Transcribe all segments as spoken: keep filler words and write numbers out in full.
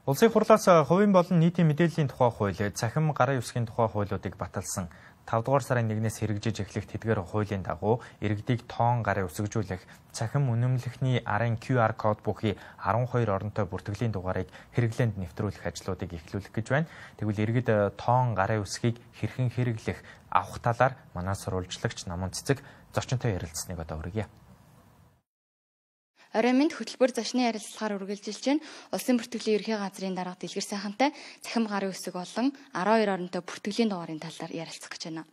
Улсын хурлаас хувийн болон нийтийн мэдээллийн тухай хууль, цахим гарын үсгийн тухай хуулиудыг баталсан тавд дугаар сарын нэгнээс хэрэгжиж эхлэх тэдгээр хуулийн дагуу иргэдийг тоон гарын үсгэжүүлэх, цахим үнэмлэхний арын Q R код бүхий арван хоёр оронтой бүртгэлийн дугаарыг хэрэглээнд нэвтрүүлэх ажлуудыг эхлүүлэх гэж байна. Тэгвэл иргэд тоон гарын үсгийг хэрхэн хэрэглэх, авах талаар манай сурвалжлагч Наман Цэцэг зочинтой ярилцсныг одоо хүргье. Оройн мэнд хөтөлбөр зочны ярилцлагаар үргэлжилж байна. Улсын бүртгэлийн ерхий газрын дарга Дэлгэр сайхантай цахим гарын үсэг болон арван хоёр оронтой бүртгэлийн дугаарын талаар ярилцах гэж байна.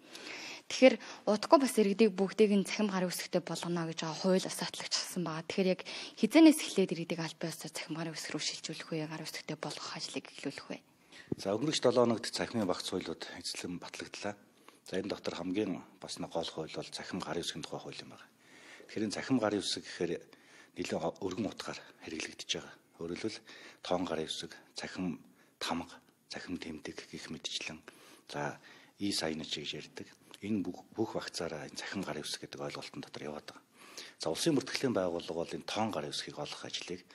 Тэгэхээр удахгүй бас иргэдийг бүгдийг нь цахим гарын үсэгтэй болгоно гэж байгаа хууль осоотлогчсон байгаа. Тэгэхээр яг хизэнээс эхлээд иргэдийг аль биесээр цахим гарын үсэг рүү шилжүүлэх вэ, гарын үсэгтэй болгох ажлыг эхлүүлэх вэ? За өнгөрөх долоо хоногт цахимын багц хуулиуд эзлэн батлагдлаа. За энэ дотор хамгийн бас нэг гол хууль бол цахим гарын үсгийн тухай хууль юм байна. Тэгэхээр энэ цахим гарын үсэг гэхээр нэлээд өргөн утгаар хэрэглэгдэж байгаа. Өөрөөр хэлбэл тоон гарын үсэг, цахим тамга, цахим тэмдэг гэх мэтчлэн за и сайнч гэж ярьдаг. Энэ бүх багцаараа энэ цахим гарын үсэг гэдэг ойлголтын дотор яваад байгаа. За улсын бүртгэлийн байгууллага бол энэ тоон гарын үсгийг олох ажлыг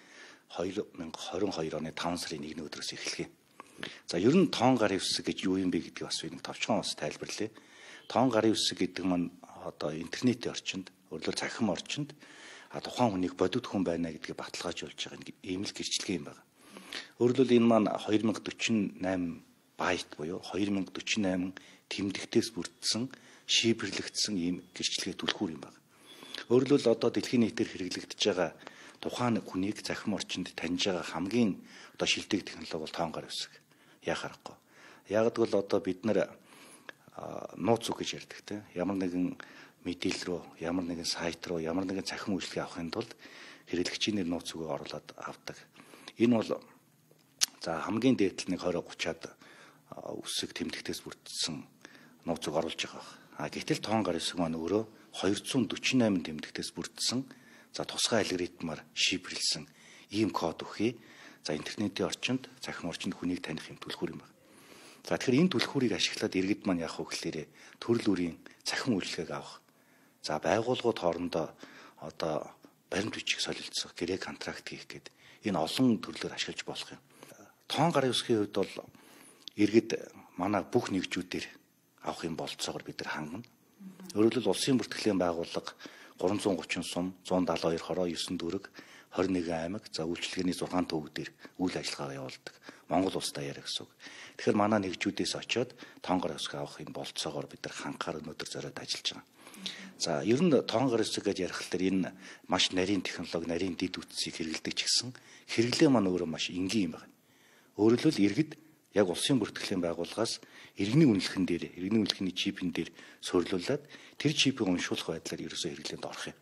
хоёр мянга хорин хоёр оны таван сарын нэгний өдрөөс эхлэв. За ер нь тоон гарын үсэг гэж юу юм бэ гэдгийг бас нэг товчхон бас тайлбарлая. Тоон гарын үсэг гэдэг маань одоо интернетийн орчинд, өөрөлдөө цахим орчинд а тухайн хүнийг бодит хүн байна гэдгийг баталгаажуулж байгаа ийм л гэрчлэгээ юм байна. Өөрөлдөл энэ маань хоёр мянга дөрвөн восемь байт буюу хоёр мянга дөрвөн восемь тэмдэгтээс бүрдсэн шийбэрлэгдсэн ийм гэрчлэгээ түлхүүр юм байна. Өөрөлдөл одоо дэлхийн нийтээр хэрэглэгдэж байгаа тухайн хүнийг захим орчинд таньж байгаа хамгийн одоо шилдэг технологи бол тоон гарын үсэг. Яах аргагүй. Яг гэвэл одоо бид нар нууц үг гэж ярьдаг те. Ямар нэгэн мэдээлэл рүү, ямар нэгэн сайт руу, ямар нэгэн цахим үйлчлэгээ авахын тулд хэрэглэгчийн нэр нууц үгийг оруулаад авдаг. Энэ бол за хамгийн дээдл нэг двадцать тридцаад үсэг тэмдэгтээс бүрдсэн нууц үг оруулж байгаа. А гэтэл тоон гарын үсэг маань өөрөө двести сорок восемь тэмдэгтээс бүрдсэн за тусгай алгоритмаар шийдвэрлсэн ийм код өгье. За интернетийн орчинд, цахим орчинд хүнийг таних юм түлхүүр юм байна. За тэгэхээр энэ түлхүүрийг ашиглаад иргэд маань яах вэ гэхээр төрөл бүрийн цахим үйлчлэгийг авах. За байгууллагууд хоорондоо одоо баримт бичиг солилцох, гэрээ контракт хийх гээд энэ олон төрлөөр ашиглаж болох юм. Тоон гарын үсгийн хувьд бол иргэд манай бүх нэгжүүдээр авах юм болцоогоор бид нар хангана. Өөрөөр хэлбэл улсын бүртгэлийн байгууллага гурван зуун гучин сум, зуун даатан хоёр хороо, девять дүүрэг, двадцать нэгэн аймаг, за үйлчлэгээний зургаан төвөгдөр үйл ажиллагаа явуулдаг. Монгол улс даяар гэсэн үг. Тэгэхээр манай нэгжүүдээс очиод тоон гарын үсэг авах юм болцоогоор бид нар ханхаар өнөөдөр зориод ажиллаж байгаа. За ер нь тоон гарын үсэг гэж ярих хэлээр энэ маш нарийн технологи, нарийн дэд үтсийг хэрэглэдэг ч гэсэн хэрэглээ маань өөрөө маш энгийн юм байна. Өөрөөр хэлбэл иргэд яг улсын бүртгэлийн байгууллагаас иргэний үнэлэхэн дээр, иргэний үнэлэхний чипэн дээр суйрлуулад тэр чипийг уншуулах байдлаар ерөөсөө хэрэглээнд орох юм.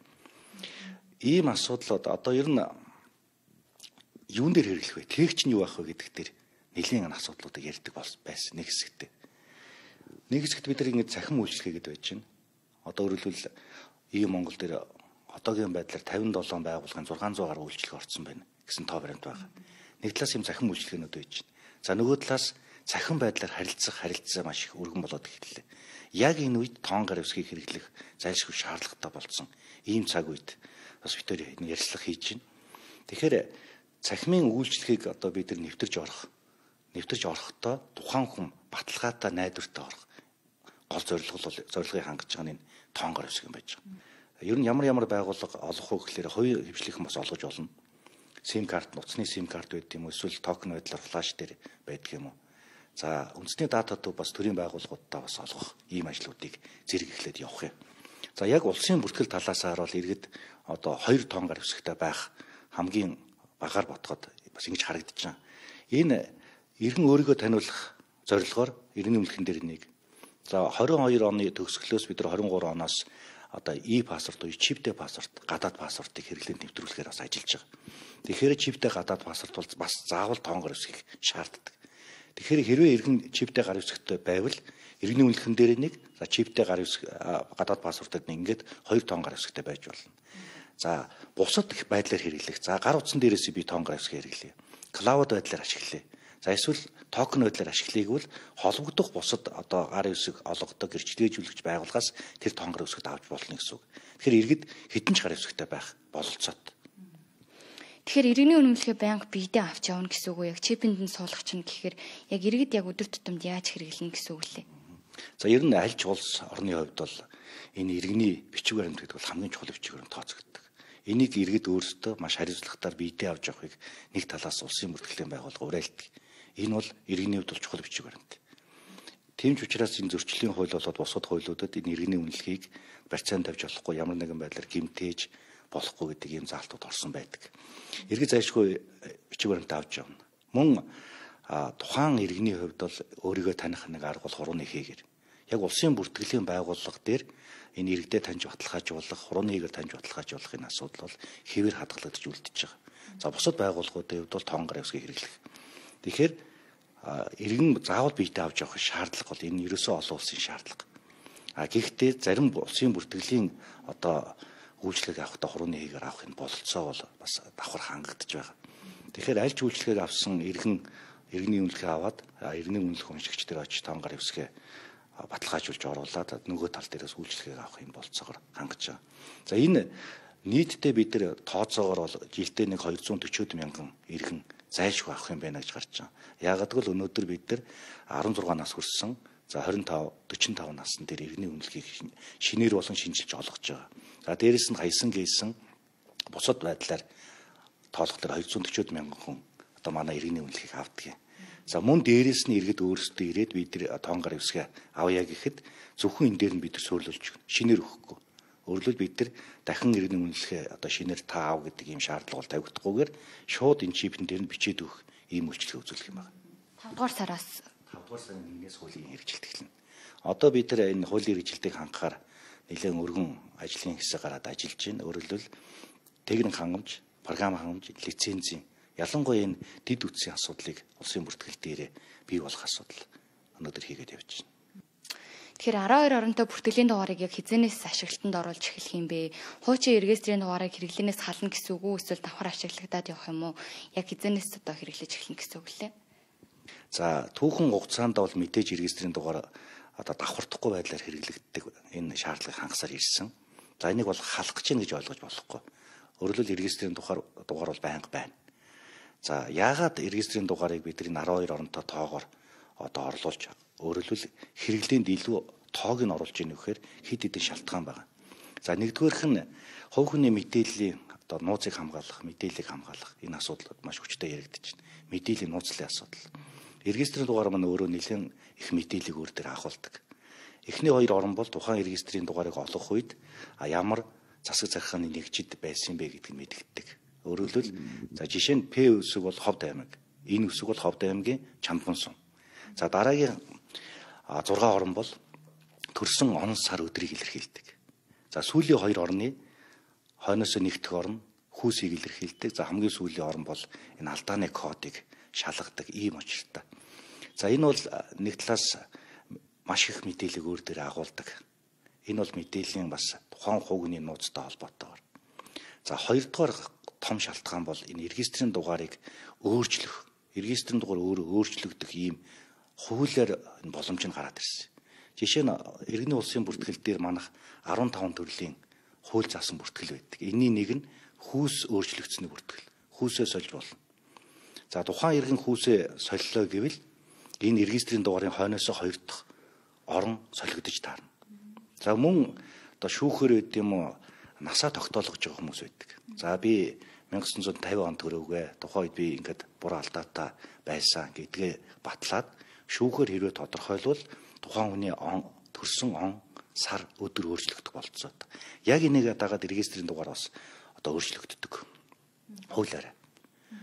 Ийм асуудлууд одоо ер нь юун дээр хэрэглэх вэ? Тээгч нь юу байх вэ гэдэг дээр нэлийн асуудлуудыг ярьдаг байсан нэг хэсэгтээ. Нэг хэсэгт бид нар ингэ цахим үйлчлэгээ гэдэг байж байна. Одоо өөрөлдвөл И Монгол дээр одоогийн байдлаар тавин долоон байгууллагын зургаан зуун гаруй үйлчлэг орсон байна гэсэн тоо баримт байна. Нэг талаас юм цахим үйлчлэгээнүүд байж байна. За нөгөө талаас цахим байдлаар харилцах харилцаа маш их өргөн болоод эхэллээ. Яг энэ үед тоон гарын үсгийг хэрэглэх зайлшгүй шаардлагатай болсон. Ийм цаг үед бас бид төр ярилцлага хийж байна. Тэгэхээр цахимын үйлчлэгийг одоо бид нар нэвтэрж орох. Нэвтэрж орохдоо тухайн хүн баталгаатай найдвартай орох. Гол зорилго бол зорилгыг хангаж байгаа нь тоон гарын үсэг юм байж байгаа. Ер нь ямар ямар байгууллага олох вэ гэхээр хувийн хвшлийнхэн бас олгож болно. SIM карт, нуцны SIM карт байдаг юм уу, эсвэл токен байдлаар флаш дээр байдаг юм уу. За үндэсний дата төв бас төрийн байгууллагуудтай бас олгох ийм ажлуудыг зэрэг эхлээд явах юм. За яг улсын бүртгэл талаас харуул иргэд одоо хоёр тоон гарын үсэгтэй байх хамгийн багаар ботгоод бас ингэж харагдаж байна. Энэ иргэн өөрийгөө таниулах зорилгоор иргэний үнэлэхэн дээр нэг. За двадцать two оны төгсгөлөөс бид нар двадцать three оноос одоо и паспорт уу чиптэй паспорт, гадаад паспортыг хэрэглээнд нэвтрүүлэхээр бас ажиллаж байгаа. Тэгэхээр чиптэй гадаад паспорт бол бас заавал тоон гарын үсгийг шаарддаг. Тэгэхээр хэрвээ иргэн чиптэй гарын үсэгтэй байвал иргэний үнэлэхэн дээр нэг, за чиптэй гарын үсэг гадаад паспортод нэг ингээд хоёр тоон гарын үсэгтэй байж болно. За бусад их байдлаар хэрэглэх. За гар утсан дээрээс би тоон гарын үсгийг хэрэглэе. Клауд байдлаар ашиглая. За эсвэл токен байдлаар ашиглахыг бол холбогдох бусад одоо гарын үсэг олгодог гэрчлэгжүүлэгч байгууллагаас тэр тоон гарын үсэгт авч болно гэсэн үг. Тэгэхээр иргэд хэдэн ч гарын үсэгтэй байх бололцоод. Тэгэхээр иргэний үнэмлэхээ байнга биедээ авч явна гэсэн үг үү? Яг чипэнд нь суулгах чинь гэхээр яг иргэд яг өдөр тутамд яаж хэрэглэнэ гэсэн үг лээ. За ер нь аль ч улс орны хувьд бол энэ иргэний бичиг баримт гэдэг бол хамгийн чухал бичиг баримт тооцогддог. Энийг иргэд өөрсдөө маш хариуцлагатаар биедээ авч явахыг нэг талаас улсын бүртгэлийн байгууллага уриалдаг. Энэ бол иргэний хувьд бол чухал бичиг баримт. Тийм ч учраас энэ зөрчлийн хууль болоод бусад хуулиудад энэ иргэний үнэлэхийг барьцаанд тавьж болохгүй, ямар нэгэн байдлаар гэмтээж болохгүй гэдэг ийм заалтууд орсон байдаг. Иргэд зайлшгүй бичиг баримт авч явна. Мөн тухайн иргэний хувьд бол өөрийгөө таних нэг арга бол хурууны хийгэр. Яг улсын бүртгэлийн байгууллага дээр энэ иргэдэд таньж баталгаажуулах, хурууны хийгээр таньж баталгаажуулах энэ асуудал бол хэвээр хадгалагдаж үлдчихэж байгаа. За бусад байгууллагуудын хувьд бол тоон гар усгийг хэрэглэх. Тэгэхээр иргэн заавал биедээ авч явах шаардлага бол энэ ерөөсөө олон улсын шаардлага. А гэхдээ зарим улсын бүртгэлийн одоо үйлчлэг авахдаа хурууны хийгээр авах энэ бололцоо бол бас давхар хангагдаж байгаа. Тэгэхээр аль ч үйлчлэгийг авсан иргэн иргэний үнэлгээ аваад иргэний үнэлэх уншигч дээр очиж тоон гар усгээ баталгаажуулж оруулаад нөгөө тал дээрээс үйлчлэгийг авах юм болцоогоор хангаж байгаа. За энэ нийтдээ бид нэр тооцоогоор бол жилдээ нэг хоёр зуун дөрвөн мянган иргэн зайлшгүй авах юм байна гэж гарч байгаа. Яагаад гэвэл өнөөдөр бид нар арван зургаан нас хүрсэн, за хорин тав, дөрвөн тав насны дээр иргэний үнэлгээг шинээр болон шинжилж олгож байгаа. За дээрэс нь хаясан гээсэн бусад байдлаар тоолох дээр хоёр зуун дөрвөн мянган хүн одоо манай иргэний үнэлгээг авдаг юм. За мөн дээрээс нь иргэд өөрсдөө ирээд бид нар тоон гар усгээ авъя гэхэд зөвхөн энэ дээр нь бид нар суйрлуулж шинээр өгөхгүй. Өөрөлдвөл бид нар дахин иргэний үнэлгээ одоо шинээр та ав гэдэг ийм шаардлага бол тавигдахгүйгээр шууд энэ чипэн дээр нь бичээд өгөх ийм үйлчлэг үзүүлэх юм байна. тавд дугаар сараас тавд дугаар сарын нэгнээс хуулийн хэрэгжилт эхэлнэ. Одоо бид нар энэ хуулийн хэрэгжилтийг хангахаар нэлээд өргөн ажлын хэсэг гараад ажиллаж байна. Өөрөлдвөл техник хангамж, програм хангамж, лицензийн ялангуяа энэ дэд үтсийн асуудлыг улсын бүртгэл дээрээ бий болох асуудал өнөөдөр хийгээд явж байна. Тэгэхээр арван хоёр оронтой бүртгэлийн дугаарыг яг хизэнээс ашиглалтанд оруулж эхлэх юм бэ? Хуучин регистрийн дугаарыг хэрэглэнээс хална гэсэн үг үү? Эсвэл давхар ашиглагдаад явах юм уу? Яг хизэнээс одоо хэрэглэж эхлэх гэсэн үг лээ. За түүхэн хугацаанд бол мэдээж регистрийн дугаар одоо давхардахгүй байдлаар хэрэглэгддэг энэ шаардлагыг хангасаар ирсэн. За энийг бол халах гэж гэж ойлгож болохгүй. Өөрөлдвөл регистрийн дугаар дугаар бол байнга байна. За яагаад регистрийн дугаарыг бид энэ арван хоёр оронтой тоогоор одоо орлуулж өөрөлдвөл хэрэглээнд илүү тоог нь оруулж ийн гэхээр хэд хэдэн шалтгаан байна. За нэгдүгээрх нь хувь хүний мэдээллийн одоо нууцыг хамгаалах, мэдээллийг хамгаалах энэ асуудал маш хүчтэй яригдэж байна. Мэдээллийн нууцлын асуудал. Регистрийн дугаар маань өөрөө нэлээд их мэдээллийг өөр дээр агуулдаг. Эхний хоёр орон бол тухайн регистрийн дугаарыг олох үед ямар засаг захиргааны нэгжид байсан бэ гэдгийг мэдэгддэг. Өөрөлдвөл за жишээ нь П үсэг бол Ховд аймаг, энэ үсэг бол Ховд аймгийн Чамдган сум. За дараагийн зургаан орон бол төрсөн он сар өдрийг илэрхийлдэг. За сүүлийн хоёр орны хойноос нэгдэх орн хүүсийг илэрхийлдэг. За хамгийн сүүлийн орн бол энэ алдааны кодыг шалгадаг ийм очиртай. За энэ бол нэг талаас маш их мэдээллийг өөр дээр агуулдаг. Энэ бол мэдээллийн бас тухайн хувийн нууцтай холбоотойгоор. За хоёрдугаар том шалтгаан бол энэ регистрийн дугаарыг өөрчлөх, регистрийн дугаар өөрөө өөрчлөгдөх ийм хуулиар боломж нь гараад ирсэн. Жишээ нь иргэний улсын бүртгэл дээр манайх арван таван төрлийн хууль заасан бүртгэл байдаг. Энийн нэг нь хүүс өөрчлөгдсөний бүртгэл. Хүүсээ сольж болно. За тухайн иргэн хүүсээ солилоо гэвэл энэ регистрийн дугаарын хойноос хоёр дахь орон солигдож таарна. За мөн одоо шүүхээр байд юм уу насаа тогтоолгож байгаа хүмүүс байдаг. За би 천구 백오십 онд төрөөгүй. Тухайн үед би ингээд буруу алдаатай байсан гэдгээ батлаад шүүхээр хэрвээ тодорхойлвол тухайн хүний он төрсөн он сар өдөр өөрчлөгдөх болцоо. Яг энийг дагаад регистрийн дугаар бас одоо өөрчлөгддөг. Хуулиараа.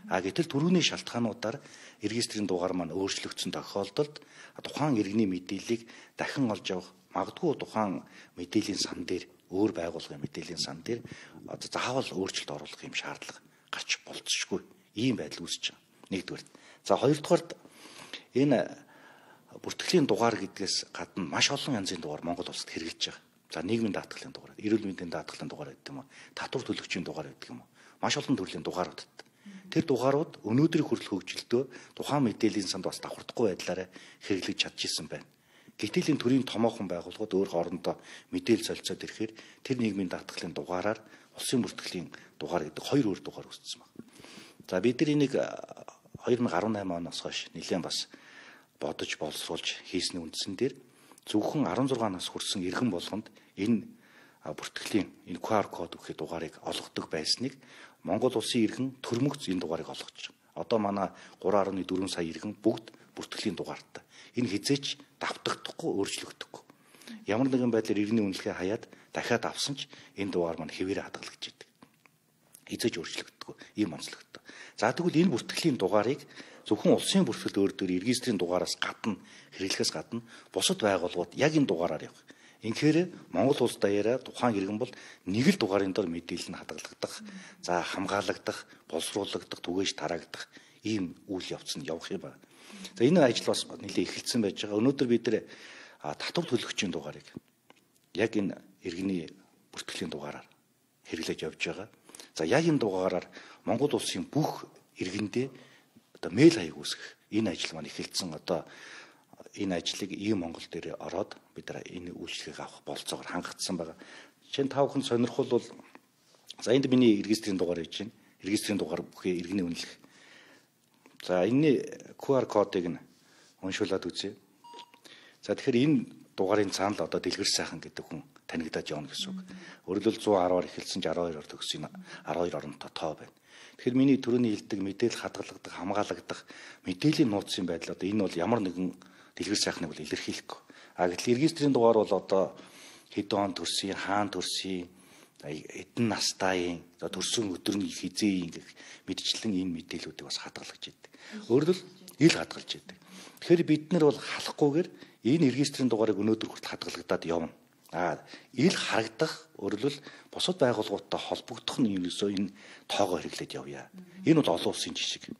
А гэтэл түрүүний шалтгаануудаар регистрийн дугаар маань өөрчлөгдсөн тохиолдолд тухайн иргэний мэдээллийг дахин олж авах магадгүй тухайн мэдээллийн сан дээр өөр байгууллагын мэдээллийн сан дээр одоо заавал өөрчлөлт оруулах юм шаардлага гарч болцсошгүй ийм байдал үүсэж байгаа. Нэгдүгээр. За хоёрдугаар энэ бүртгэлийн дугаар гэдгээс гадна маш олон янзын дугаар Монгол улсад хэрэгжилж байгаа. За нийгмийн даатгалын дугаар, эрүүл мэндийн даатгалын дугаар гэдэг юм уу, татвар төлөгчийн дугаар гэдэг юм уу. Маш олон төрлийн дугаарууд. Тэр дугаарууд өнөөдрийн хүртэл хөгжилтөө тухайн мэдээллийн санд бас давхардахгүй байдлаараа хэрэглэж чадчихсан байна. Гэтэл энэ төрлийн томоохон байгууллагууд өөр хоорондоо мэдээлэл солилцоод ирэхээр тэр нийгмийн даатгалын дугаараар улсын бүртгэлийн дугаар гэдэг хоёр өөр дугаар үүссэн байна. За бид нар энийг хоёр мың арван найман оноос хойш нэлээд бас бодож боловсруулж хийсний үндсэн дээр зөвхөн арван зургаан нас хүрсэн иргэн болгонд энэ бүртгэлийн энэ ку ар код өгөх дугаарыг олгодог байсныг Монгол улсын иргэн төрмөгц энэ дугаарыг олгож байгаа. Одоо манай гурван гаруй дөрвөн сая иргэн бүгд бүртгэлийн дугаартай. Энэ хизээч давтагдахгүй, өөрчлөгдөхгүй. Ямар нэгэн байдлаар иргэний үнэлгээ хаяад дахиад авсан ч энэ дугаар маань хэвээрээ хадгалагдж идэг. Хизээч өөрчлөгдөхгүй ийм онцлогтой. За тэгвэл энэ бүртгэлийн дугаарыг зөвхөн улсын бүртгэл өөр дөр регистрийн дугаараас гадна хэрэглэхээс гадна бусад байгууллагууд яг энэ дугаараар явах. Инхээр Монгол улс даяараа тухайн иргэн бол нэг л дугаарын дор мэдээлэл нь хадгалагдах, за хамгаалагдах, боловсруулагдах, түгээж тараагдах ийм үйл явц нь явах юм байна. За энэ ажил бас нэлээд эхэлсэн байж байгаа. Өнөөдөр бид нэр татвар төлөгчийн дугаарыг яг энэ иргэний бүртгэлийн дугаараар хэрэглэж явж байгаа. За яг энэ дугаараар Монгол улсын бүх иргэндээ одоо мэйл хаяг үүсгэх энэ ажил маань эхэлсэн. Одоо энэ ажлыг ийм Монгол дээр ороод бид нар энэ үйлчлэгийг авах болцоогоор хангагдсан байгаа. Жишээ нь та бүхэн сонирхол бол за энд миний регистрийн дугаар хийж байна. Регистрийн дугаар бүхий иргэний үнэлэх. За энэний ку ар кодыг нь уншуулад үзье. За тэгэхээр энэ дугаарын цаана л одоо дэлгэр сайхан гэдэг хүн танигдаад явна гэсэн үг. Өөрөлдөл зуун арваар эхэлсэн ч арван хоёроор төгсөн арван хоёр оронтой тоо байна. Тэгэхээр миний түрүүний хэлдэг мэдээлэл хадгалагдах, хамгаалагдах мэдээллийн нууцын байдал одоо энэ бол ямар нэгэн дэлгэр сайхныг бол илэрхийлэхгүй. А гэтэл регистрийн дугаар бол одоо хэдэн он төрсөн, хаана төрсөн, эдэн настайын, за төрсөн өдрийн хизээийн гэх мэдчлэн энэ мэдээллүүдийг бас хадгалж идэг. Өөрөлдөл ил хадгалж идэг. Тэгэхээр бид нар бол халахгүйгээр энэ регистрийн дугаарыг өнөөдөр хүртэл хадгалагдаад явна. А ил харагдах өөрөлдөл бусад байгууллагуудтай холбогдох нь ерөөсөө энэ тоогоо хэрэглээд явъя. Энэ бол олон улсын жишг.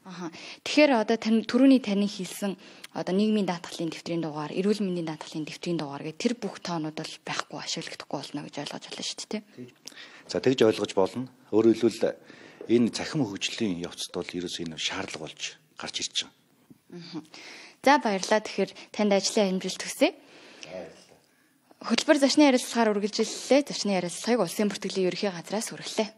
Аха. Тэгэхээр одоо тань түрүүний таны хэлсэн одоо нийгмийн даатгалын дэвтрийн дугаар, эрүүл мэндийн даатгалын дэвтрийн дугаар гэх тэр бүх тоонууд бол байхгүй, ашиглагдахгүй болно гэж ойлгож байна шүү дээ, тийм. За тэгж ойлгож болно. Өөрөөр хэлбэл энэ цахим хөгжлийн явцад бол ерөөсөө энэ шаардлага болж гарч ирж байгаа. За баярлалаа. Тэгэхээр танд ажлын амжилт хүсье. Хөтөлбөр зочны ярилцлагаар үргэлжиллээ. Зочны ярилцлагыг Улсын бүртгэлийн ерөнхий газраас хүргэлээ.